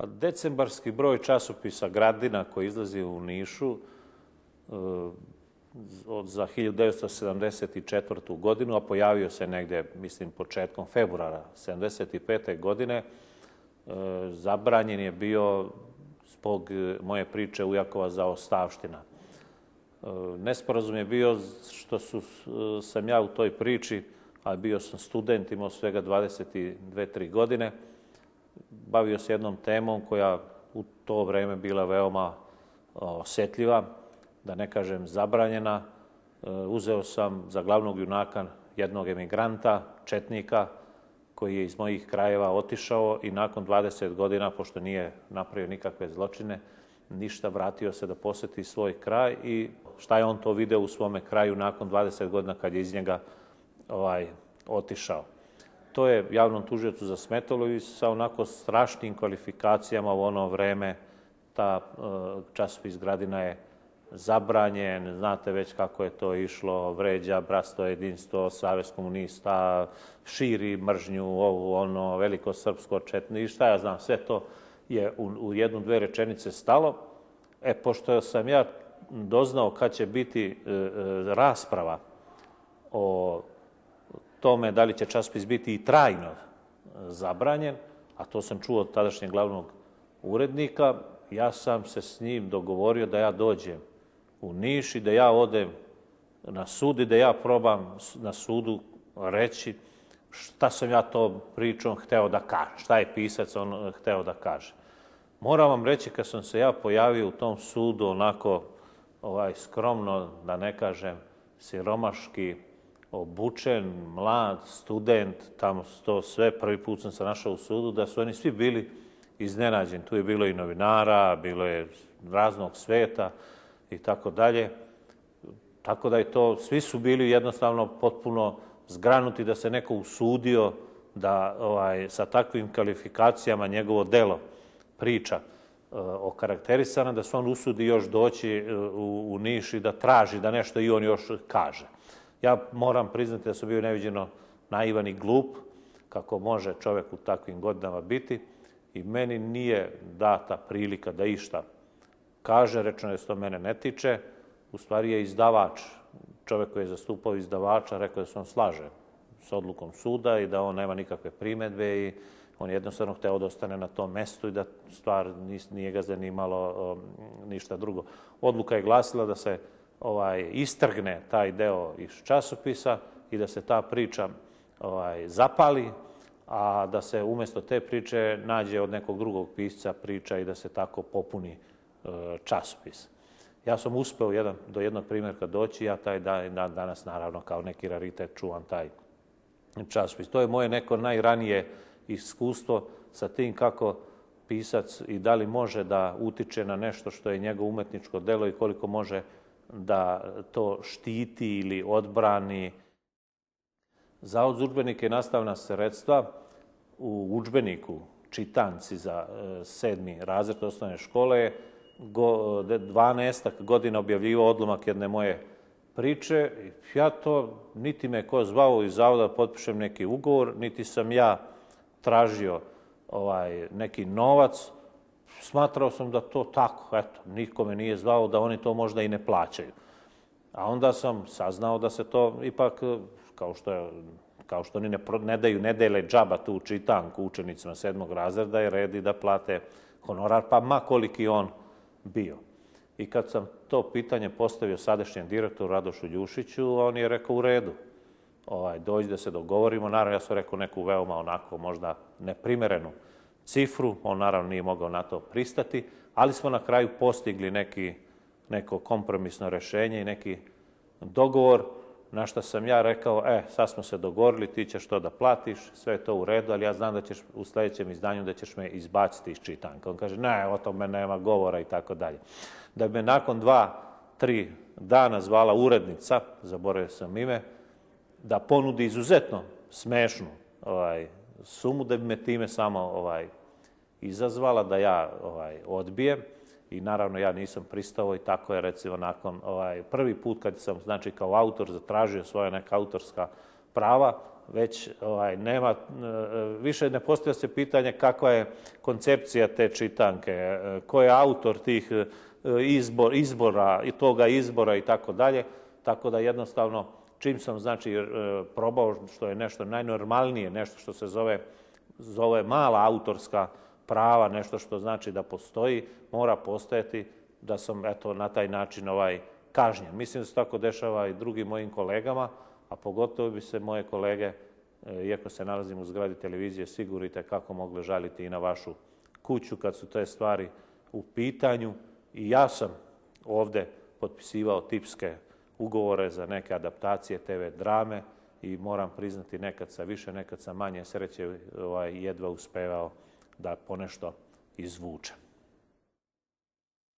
Pa decembarski broj časopisa Gradina koji izlazi u Nišu za 1974. godinu, a pojavio se negdje, mislim, početkom februara 1975. godine, zabranjen je bio zbog moje priče Ujakova zaostavština. Nesporazum je bio što sam ja u toj priči, a bio sam student, imao svega 22-23 godine, bavio se jednom temom koja u to vrijeme bila veoma osjetljiva, da ne kažem zabranjena. Uzeo sam za glavnog junaka jednog emigranta, četnika, koji je iz mojih krajeva otišao i nakon 20 godina, pošto nije napravio nikakve zločine, ništa, vratio se da posjeti svoj kraj i šta je on to video u svome kraju nakon 20 godina kad je iz njega otišao. To je javnom tužiocu zasmetalo i sa onako strašnim kvalifikacijama u ono vreme ta časopis Gradina je zabranjen, znate već kako je to išlo, vređa bratstvo, jedinstvo, savez komunista, širi mržnju, ovu, ono, veliko srpsko četni i šta ja znam, sve to je u jednu, dve rečenice stalo. Pošto sam ja doznao kad će biti rasprava o tome da li će časopis biti i trajno zabranjen, a to sam čuo od tadašnjeg glavnog urednika, ja sam se s njim dogovorio da ja dođem u Niš i da ja odem na sud i da ja probam na sudu reći šta sam ja to pričom hteo da kažem, šta je pisac on hteo da kaže. Moram vam reći, kad sam se ja pojavio u tom sudu onako skromno, da ne kažem siromaški, obučen, mlad, student, tamo to sve, prvi put sam se našao u sudu, da su oni svi bili iznenađeni. Tu je bilo i novinara, bilo je raznog sveta i tako dalje. Tako da je to, svi su bili jednostavno potpuno zgranuti da se neko usudio da sa takvim kvalifikacijama njegovo delo priča okarakterisana, da se on usudi još doći u Niš i da traži da nešto i on još kaže. Ja moram priznati da sam bio neviđeno naivan i glup, kako može čovjek u takvim godinama biti, i meni nije data prilika da išta kaže, rečeno je da se to mene ne tiče. U stvari je izdavač, čovjek koji je zastupao izdavača, rekao da se on slaže s odlukom suda i da on nema nikakve primedbe i on je jednostavno hteo da ostane na tom mestu i da stvar nije ga zanimalo ništa drugo. Odluka je glasila da se istrgne taj deo iz časopisa i da se ta priča zapali, a da se umjesto te priče nađe od nekog drugog pisca priča i da se tako popuni časopis. Ja sam uspeo do jednog primjerka doći, ja taj dan danas naravno kao neki raritet čuvam taj časopis. To je moje neko najranije iskustvo sa tim kako pisac i da li može da utiče na nešto što je njegovo umetničko delo i koliko može da to štiti ili odbrani. Zavod za udžbenike i nastavna sredstva u udžbeniku čitanci za 7. razred osnovne škole je 12 godina objavljivao odlomak jedne moje priče. Ja to, niti me ko zvao iz zavoda da potpišem neki ugovor, niti sam ja tražio neki novac. Smatrao sam da to tako, eto, niko me nije zvao, da oni to možda i ne plaćaju. A onda sam saznao da se to ipak, kao što oni ne dele džaba tu čitanku učenicima 7. razreda, je red i da plate honorar, pa ma koliki on bio. I kad sam to pitanje postavio sadašnjem direktoru Radošu Ljušiću, on je rekao u redu, dođi da se dogovorimo. Naravno, ja sam rekao neku veoma onako možda neprimerenu cifru, on naravno nije mogao na to pristati, ali smo na kraju postigli neko kompromisno rješenje i neki dogovor, na što sam ja rekao, sad smo se dogovorili, ti ćeš to da platiš, sve je to u redu, ali ja znam da ćeš u sljedećem izdanju da ćeš me izbaciti iz čitanka. On kaže, ne, o tome nema govora i tako dalje. Da bi me nakon 2-3 dana zvala urednica, zaboravio sam ime, da ponudi izuzetno smešnu sumu, da bi me time samo izazvala da ja odbijem. I naravno ja nisam pristao i tako je recimo nakon prvi put kad sam znači kao autor zatražio svoja neka autorska prava, već nema, više ne postavlja se pitanje kakva je koncepcija te čitanke, ko je autor tih izbora i toga izbora i tako dalje. Tako da jednostavno čim sam probao, što je nešto najnormalnije, nešto što se zove mala autorska prava, nešto što znači da postoji, mora postojati da sam na taj način kažnjen. Mislim da se tako dešava i drugim mojim kolegama, a pogotovo bi se moje kolege, iako se nalazim u zgradi televizije, sigurno kako mogle žaliti i na vašu kuću kad su te stvari u pitanju. I ja sam ovde potpisivao tipske ugovore za neke adaptacije TV drame i moram priznati nekad sa više, nekad sa manje sreće jedva uspevao da ponešto izvučem.